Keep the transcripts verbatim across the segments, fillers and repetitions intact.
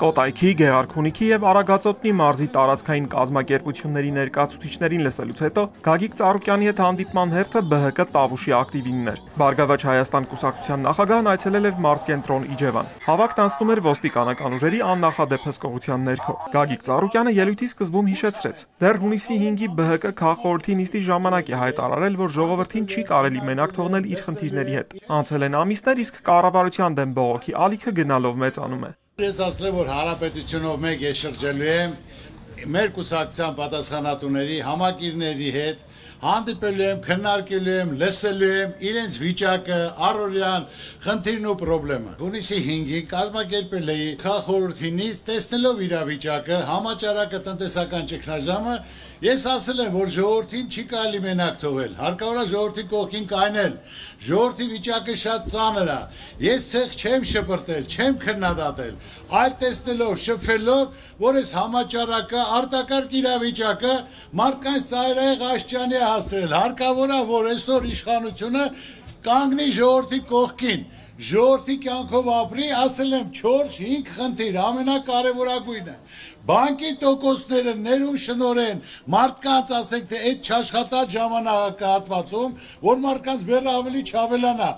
Կոտայքի, Գեղարքունիքի եւ Արագածոտնի մարզի տարածքային կազմակերպությունների ներկայացուցիչներին լսելուց հետո Գագիկ Ծառուկյանի հետ հանդիպման հերթը Բ Հ Կ Տավուշի ակտիվինն էր։ Բարգավաճ Հայաստան կուսակցության նախագահն այցելել էր մարզկենտրոն Իջևան։ Հավաքն անցնում էր ոստիկանական ուժերի աննախադեպ հսկողության ներքո։ Գագիկ Ծառուկյանը ելույթի սկզբում հիշեցրեց. դեռ հունիսի հինգի Բ Հ Կ քաղաքխորհրդի նիստի ժամանակ է հայտարարել, որ ժողովրդին չի կարելի մենակ թողնել իր խնդիրների հետ։ Անցել են ամիսներ, իսկ կառավարության դեմ բողոքի ալիքը գնալով մեծանում է։ Ես ասել որ հանրապետությունով մեկ է շրջելու եմ մեր կուսակցության պատասխանատուների համակիրների հետ հանդիպելու եմ, քննարկելու եմ, լսելու եմ իրենց վիճակը, առօրյան խնդիրն ու խնդրումը։ Հունիսի հինգին կազմակերպել էի քաղաքխորհրդի նիստ, տեսնելով իրավիճակը, համաճարակը, տնտեսական ճգնաժամը, ես ասել եմ, որ ժողովրդին չի կարելի մենակ թողել, հարկավոր է ժողովրդի կողքին կայնել, ժողովրդի վիճակը շատ ծանր է, ես ցեղ չեմ շպրտել, չեմ քննադատել, այլ տեսնելով, շփվելով, որ այս համաճարակը, արտակարգ իրավիճակը մարդկանց ծայրահեղ աշճանի է հասրել, հարկավոր է, որ այսօր իշխանությունը կանգնի ժողովրդի կողքին, ժողովրդի կյանքով ապրի, ասել եմ չորս հինգ խնդիր, ամենակարևորագույնը, բանկի տոկոսները ներում շնորհեն մարդկանց, ասենք թե այդ չաշխատած ժամանակահատվածում, որ մարդկանց բեռը ավելի չավելանա,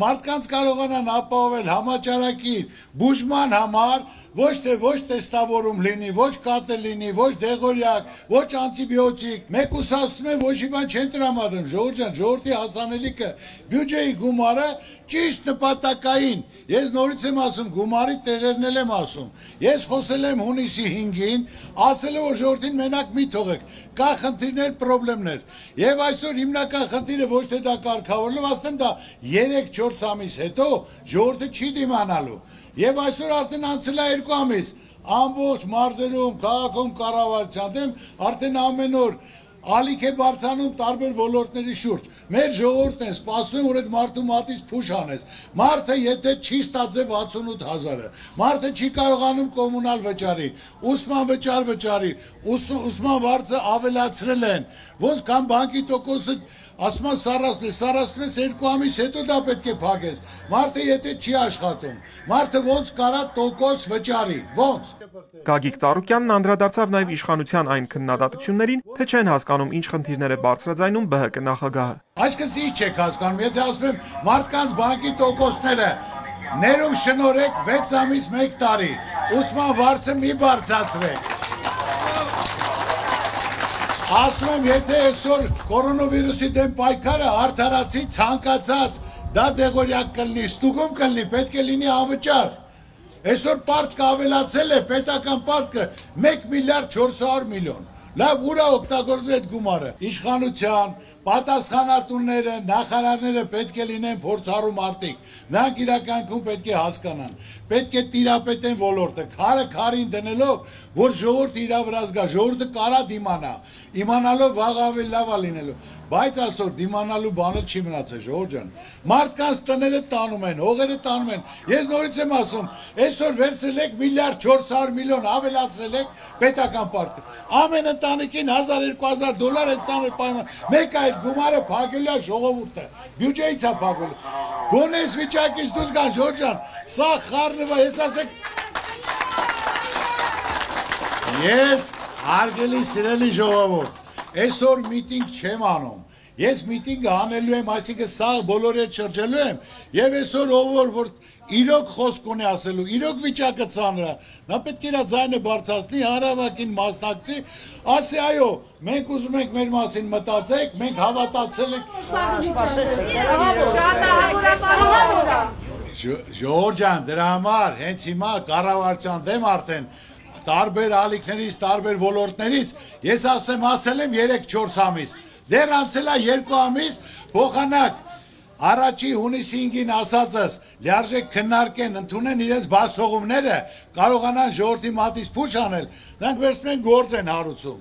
մարդկանց կարողանան ապահովել համաճարակի բուժման համար, ոչ թե ոչ տեստավորում լինի, ոչ կատը լինի, ոչ դեղորյակ, ոչ անտիբիոտիկ, մեկ ուսացնում են ոչ մի բան չեն տրամադրում, ժողովուրդ ջան, ժողովրդի հասանելիքը, բյուջեի գումարը ճիշտ նպատակային, ես նորից եմ ասում, գումարի տեղերն էլ եմ ասում, ես խոսել եմ հունիսի հինգին, ասել եմ, որ ժողովրդին մենակ մի թողեք, կա խնդիրներ, պրոբլեմներ, եւ այսօր հիմնական խնդիրը ոչ թե դա կարգավորելով, ասեմ դա երեք չորս ամիս հետո ժողովուրդը չի դիմանալու, եւ այսօր արդեն անցել է երկու ամիս, ամբողջ մարզերում, քաղաքում կառավարության դեմ արդեն ամեն օր ալիք է բարձրանում տարբեր ոլորտների շուրջ։ Մեր ժողովուրդն է սպասում, որ այդ մարդու մատից փուշ անես։ Մարդը եթե չի ստացել վաթսունութ հազարը, մարդը չի կարողանում կոմունալ վճարի, ուսման վճար վճարի, ուսման վարձը ավելացրել են, ոնց կամ բանկի տոկոսը ասում են սառացնում է, սառացնում ես երկու ամիս հետո դա պետք է փակես։ Մարդը եթե չի աշխատում, մարդը ոնց կարա տոկոս վճարի, ոնց։ Գագիկ Ծառուկյանն անդրադարձավ նաև իշխանության այն քննադատություններին, թե չեն հասկանում ինչ խնդիրներ է բարձրաձայնում Բ Հ Կ նախագահը։ Այսինքն ինչ չեք հասկանում, եթե ասում եմ մարդկանց բանկի տոկոսները ներում շնորհեք վեց ամիս մեկ տարի, ուսման վարձը մի բարձրացրեք։ Ասում եմ, եթե այսօր կորոնավիրուսի դեմ պայքարը արդարացի ցանկացած, դա դեղորյակ կլինի, ստուգում կլինի, պետք է լինի անվճար։ Այսօր պարտքը ավելացել է, պետական պարտքը մեկ միլիարդ չորս հարյուր միլիոն։ Լավ, ուր է օգտագործվում այդ գումարը։ Իշխանության, պատասխանատուները, նախարարները պետք է լինեն փորձառու մարդիկ։ Նրանք իրականքում պետք է հասկանան, պետք է տիրապետեն ոլորտը, քարը քարին դնելով, որ ժողովուրդը իր վրա զգա, ժողովուրդը կարա դիմանա, իմանալով վաղ ավելի լավ է լինելու։ Բայց այսօր դիմանալու բանը չի մնացել, ժողովուրդ ջան։ Մարդկանց տները տանում են, հողերը տանում են։ Ես նորից եմ ասում, այսօր վերցրել եք միլիարդ չորս հարյուր միլիոն ավելացրել եք պետական պարտքը։ Ամեն ընտանիքին հազար երկու հազար դոլար է տանը պայման։ Մեկ այդ գումարը փակելու է ժողովուրդը։ Բյուջեից է փակելու։ Գոնե այս վիճակից դուրս գան, ժողովուրդ ջան։ Սա խառնվա, ես ասեք։ Ես հարգելի սիրելի ժողովուրդ, այսօր միտինգ չեմ անում, ես միտինգը անելու եմ, այսինքն սա բոլորի հետ շրջելու եմ, եւ այսօր ով որ իրոք խոսք ունի ասելու, իրոք վիճակը ծանր է, նա պետք է իր ձայնը բարձրացնի, հանրավակին մասնակցի, ասի այո, մենք ուզում ենք մեր մասին մտածեք, մենք հավատացել ենք։ Ժողովուրդ ջան, դրա համար հենց հիմա կառավարության դեմ արդեն տարբեր ալիքներից, տարբեր ոլորտներից, ես ասեմ, ասել եմ երեք չորս ամիս, դեռ անցել է երկու ամիս, փոխանակ, առաջի հունիսի հինգին ասածս, լիարժեք քննարկեն, ընդունեն իրենց բացթողումները, կարողանան ժողովրդի մատից փուշ անել, նրանք վերցնում են գործ են հարուցում,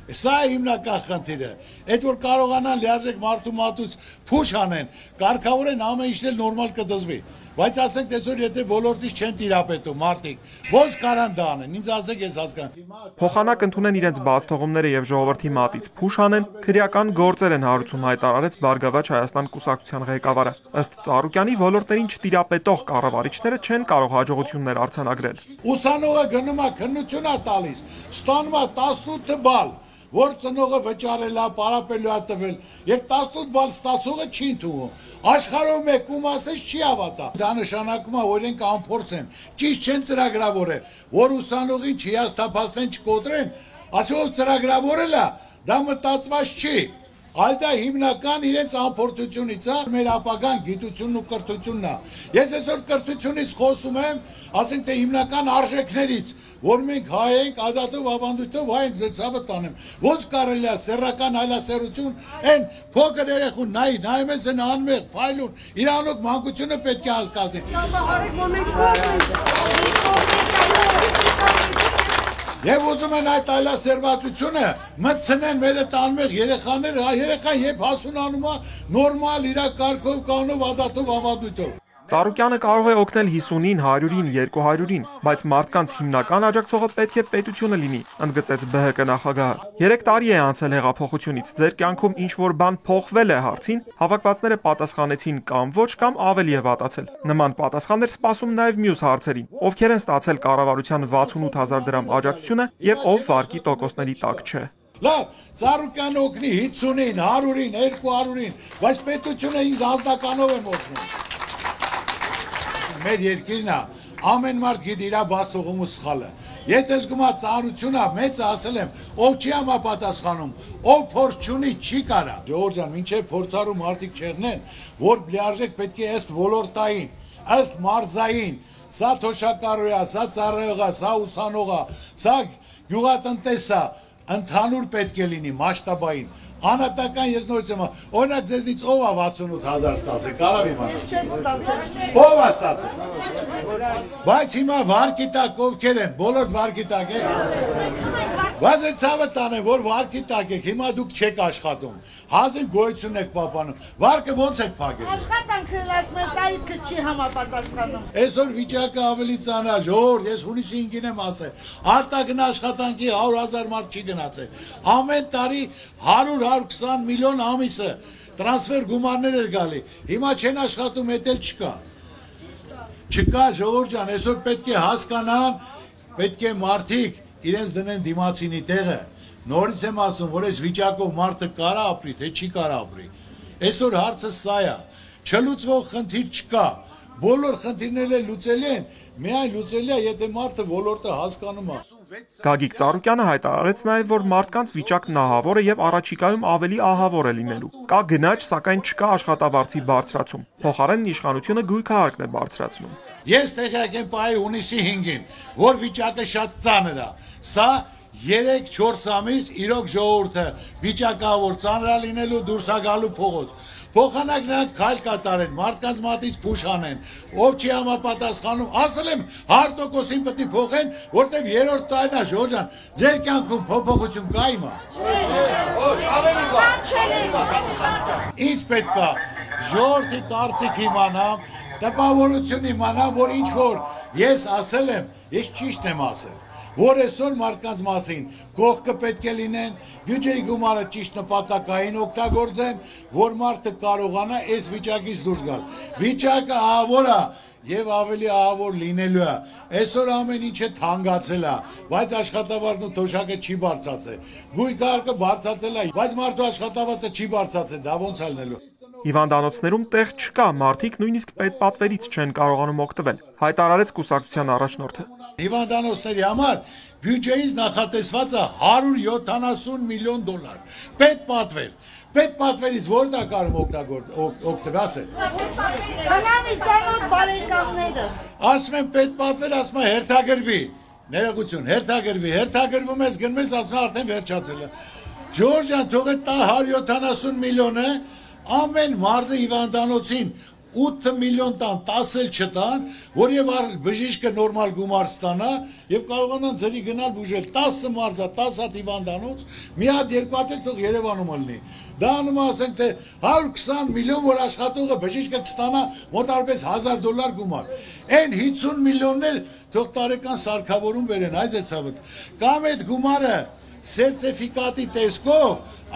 Սա է հիմնական խնդիրը։ Այդ որ կարողանան լիարժեք մարդու մատուց փուշ անեն, կարգավոր են ամեն ինչ էլ նորմալ կդզվի։ Բայց ասենք այսօր եթե ոլորտից չեն տիրապետում մարդիկ, ո՞նց կարան դա անեն։ Ինձ ասեք ես հասկանում։ Փոխանակ ընդունեն իրենց բաց թողումները եւ ժողովրդի մատից փուշ անեն, քրեական գործեր են հարուցում, հայտարարեց Բարգավաճ Հայաստան կուսակցության ղեկավարը։ Ըստ Ծառուկյանի ոլորտերին չտիրապետող կառավարիչները չեն կարող հաջողություններ արձանագրել։ Ուսանողը գնում է քննություն է տալիս, ստանում է տասնութ բալ, որ ծնողը վճարել է, պարապելու է տվել, եւ տասնութ բալ ստացողը չի ընդունում։ Աշխարհում մեկում ասես չի հավատա։ Դա նշանակում է, որ իրենք անփորձ են, ճիշտ չեն ծրագրավորել, որ ուսանողին չհիասթափացնեն, չկոտրեն, ասելով ծրագրավորել է, դա մտածված չի։ Այլ դա հիմնական իրենց անփորձությունից է, մեր ապագան գիտությունն ու կրթությունն է։ Ես այսօր կրթությունից խոսում եմ, ասենք թե հիմնական արժեքներից, որ մենք հայ ենք, ադատով, ավանդույթով հայ ենք զրցավը տանեմ։ Ոնց կարելի է սեռական հայլասերություն, այն փոքր երեխուն նայի, նայում ես են անմեղ, փայլուն, իրանոք մանկությունը պետք է հասկացի։ Եվ ուզում են այդ այլասերվածությունը մտցնեն մեր տանմեղ երեխաներ, երեխան երբ հասունանում է նորմալ իր կարգով, կանոնով, ադատով, ավանդույթով։ Ծառուկյանը կարող է օգնել հիսունին, հարյուրին, երկու հարյուրին, բայց մարդկանց հիմնական աջակցողը պետք է պետությունը լինի, ընդգծեց Բ Հ Կ նախագահը։ Երեք տարի է անցել հեղափոխությունից, ձեր կյանքում ինչ-որ բան փոխվել է հարցին, հավաքվածները պատասխանեցին կամ ոչ կամ ավելի է վատացել։ Նման պատասխաններ սպասում նաև մյուս հարցերին, ովքեր են ստացել կառավարության վաթսունութ հազար դրամ աջակցությունը եւ ով վարկի տոկոսների տակ չէ։ Լավ, Ծառուկյանը օգնի հիսունին, հարյուրին, երկու հարյուրին, բայց պետությունը ինձ անձնականով եմ օգնում։ Մեր երկիրն է, ամեն մարդ գիտի իր բաց թողումու սխալը։ Եթե զգում է ծանրությունը, մեծ ասել եմ, ով չի համապատասխանում, ով փորձ չունի, չի կարա։ Ժողովուրդ ջան, մինչև փորձառու մարդիկ չեղնեն, որ լիարժեք պետք է ըստ ոլորտային, ըստ մարզային, սա թոշակառու է, սա ծառայող է, սա ուսանող է, սա գյուղատնտես է, ընդհանուր պետք է լինի մասշտաբային։ Անհատական ես նորից եմ, օրինակ ձեզնից ով է վաթսունութ հազար ստացել, կարող իմանալ։ Ով է ստացել։ Բայց հիմա վարկի տակ ովքեր են, բոլոր վարկի տակ են։ Բայց այդ ցավը տանեմ, որ վարկի տակ եք, հիմա դուք չեք աշխատում, հազիվ գոյություն եք պահպանում, վարկը ոնց եք փակել։ Աշխատանքն ասում են, տարիքը չի համապատասխանում։ Այսօր վիճակը ավելի ծանր, ժողովուրդ, ես հունիսի հինգին եմ ասել, արտագն աշխատանքի հարյուր հազար մարդ չի գնացել։ Ամեն տարի հարյուր հարյուր քսան միլիոն ամիսը տրանսֆեր գումարներ էր գալի։ Հիմա չեն աշխատում, էդ էլ չկա։ Չկա, ժողովուրդ ջան, այսօր պետք է հասկանան, պետք է մարդիկ իրենց դնեն դիմացինի տեղը։ Նորից եմ ասում, որ այս վիճակով մարդը կարա ապրի, թե չի կարա ապրի։ Այսօր հարցը սա է, չլուծվող խնդիր չկա։ Բոլոր խնդիրները լուծելի են, միայն լուծելի է, եթե մարդը ոլորտը հասկանում է։ Գագիկ Ծառուկյանը հայտարարեց նաև, որ մարդկանց վիճակն ահավոր է եւ առաջիկայում ավելի ահավոր է լինելու։ Կա գնաճ, սակայն չկա աշխատավարձի բարձրացում։ Փոխարենն իշխանությունը գույքահարկն է բարձրացնում։ Ես տեղյակ եմ պահի հունիսի հինգին, որ վիճակը շատ ծանր է։ Սա երեք չորս ամիս իրոք ժողովուրդը վիճակավոր ծանր է լինելու, դուրս է գալու փողոց։ Փոխանակ նրանք քայլ կատարեն, մարդկանց մատից փուշ անեն, ով չի համապատասխանում, ասել եմ հարյուր տոկոսին պետք է փոխեն, որտեվ երրորդ տարին է, ժողովուրդ ջան, ձեր կյանքում փոփոխություն կա հիմա։ Ոչ, ավելի կա։ Ինչ պետք է ժողովրդի կարծիք իմանամ, տպավորություն իմանամ, որ ինչ որ ես ասել եմ, ես ճիշտ եմ ասել, որ այսօր մարդկանց մասին կողքը պետք է լինեն, բյուջեի գումարը ճիշտ նպատակային օգտագործեն, որ մարդը կարողանա այս վիճակից դուրս գալ։ Վիճակը ահավոր է եւ ավելի ահավոր լինելու է։ Այսօր ամեն ինչը թանկացել է, բայց աշխատավարձն ու թոշակը չի բարձրացել։ Գույքարկը բարձրացել է, բայց մարդու աշխատավարձը չի բարձրացել, դա ոնց է լինելու։ Հիվանդանոցներում տեղ չկա, մարդիկ նույնիսկ պետպատվերից չեն կարողանում օգտվել, հայտարարեց կուսակցության առաջնորդը։ Հիվանդանոցների համար բյուջեից նախատեսված է հարյուր յոթանասուն միլիոն դոլար։ Պետպատվեր, պետպատվերից ո՞րն է կարող օգտվել։ Հնամի ծանոթ բարեկամները։ Ասում են պետպատվեր, ասում են հերթագրվի, ներողություն, հերթագրվի, հերթագրվում ես գնում ես, ասում են արդեն վերջացել է։ Ժողովուրդ ջան, թող այդ հարյուր յոթանասուն միլիոնը ամեն մարզի հիվանդանոցին ութ միլիոն տան, տասը չտան, որ եւ բժիշկը նորմալ գումար ստանա եւ կարողանան ծրի գնալ բուժել տասը մարզա, տասը հիվանդանոց, մի հատ երկու հատ թող Երևանում լինի։ Դա անում ասենք թե հարյուր քսան միլիոն որ աշխատողը բժիշկը կստանա մոտարպես հազար դոլար գումար։ Այն հինգ միլիոններ թող տարեկան սարքավորում բերեն, այ ձեծավդ։ Կամ այդ գումարը սերտիֆիկատի տեսքով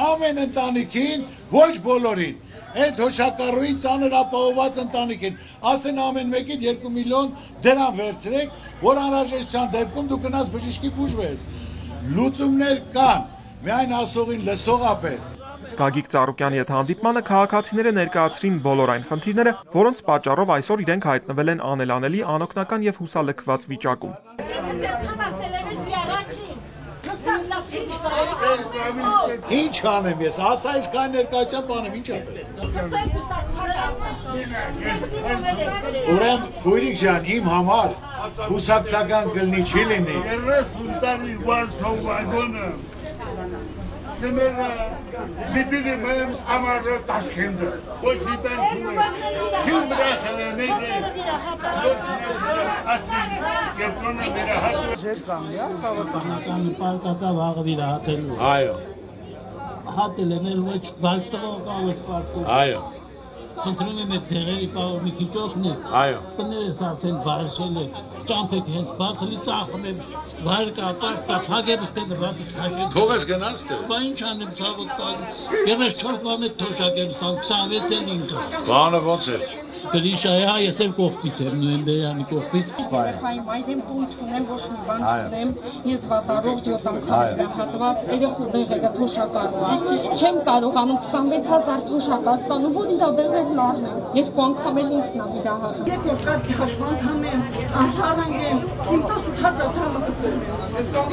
ամեն ընտանիքին, ոչ բոլորին Այդ հոշակառուի ծանր ապահոված ընտանիքին, ասեն ամեն մեկին երկու միլիոն դրամ վերցրեք, որ անհրաժեշտության դեպքում դու գնաց բժիշկի բուժվես։ Լուծումներ կան, միայն ասողին լսողա պետք։ Գագիկ Ծառուկյանի հետ հանդիպմանը քաղաքացիները ներկայացրին բոլոր այն խնդիրները, որոնց պատճառով այսօր իրենք հայտնվել են անելանելի, անօգնական եւ հուսալքված վիճակում։ Ինչ անեմ ես, ասա այս կան ներկայության բանեմ, ինչ անեմ։ Ուրեմ, քույրիկ ջան, իմ համար հուսակցական կլնի չի լինի։ Սեմերը Սիբիրի մեմ ամառը Տաշկենտը, ոչ իբեն չունե, չին բրախել է նեգե, ասի, կետրոնը վիրահատը։ Ժեր ծամյա, ծավոտանական պարկատավ հաղը վիրահատելու։ Այո։ Հատել են էլ ոչ բալտվող կավեչ պարկում։ Այո։ Խնդրում եմ այդ դեղերի պաղով մի քիչ օգնել։ Այո։ Տներս արդեն բարշել է, ճամփեք հենց բացելի ծախում եմ, վայր կա, պարկ կա, փագեմ ստեն ռատից քաշել։ Թողես գնաց թե։ Բա ինչ անեմ ծավոտ տալիս։ Երես չորս բան է թոշակեմ ստան, քսանվեց էլ ինքը։ Բանը ոնց է։ Գրիշայի հա ես էլ կողքից եմ, նոյեմբերյանի կողքից։ Երեխային մայրեմ տուն չունեմ, ոչ մի բան չունեմ, ես վատառողջ յոթ անգամ հատված, երեխու դեղերը թոշակառու է, չեմ կարողանում քսանվեց հազար թոշակա ստանում, որ իրա դեղերն առնեմ, երկու անգամ էլ ինքն ա վիրահատում։ Երկրորդ կարգի հաշվանդամ եմ, անշարժանք եմ, իմ տասը հազար դրամը կտրում եմ,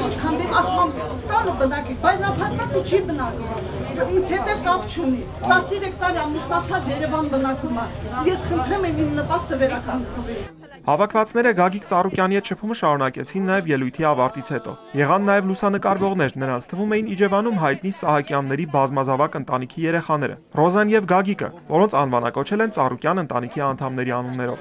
ինչքան դեմ ասմամ տանը բնակի, բայց նա փաստացի չի բնակում, ինձ հետ էլ կապ չունի, տասներեք տարի ամուսնացած Երևան բնակում է, ես խնդրեմ եմ իմ նպաստը վերականգնվել։ Հավաքվածները Գագիկ Ծառուկյանի հետ շփումը շարունակեցին նաև ելույթի ավարտից հետո։ Եղան նաև լուսանկարվողներ, նրանց թվում էին Իջևանում հայտնի Սահակյանների բազմազավակ ընտանիքի երեխաները՝ Ռոզան եւ Գագիկը, որոնց անվանակոչել են Ծառուկյան ընտանիքի անդամների անուններով։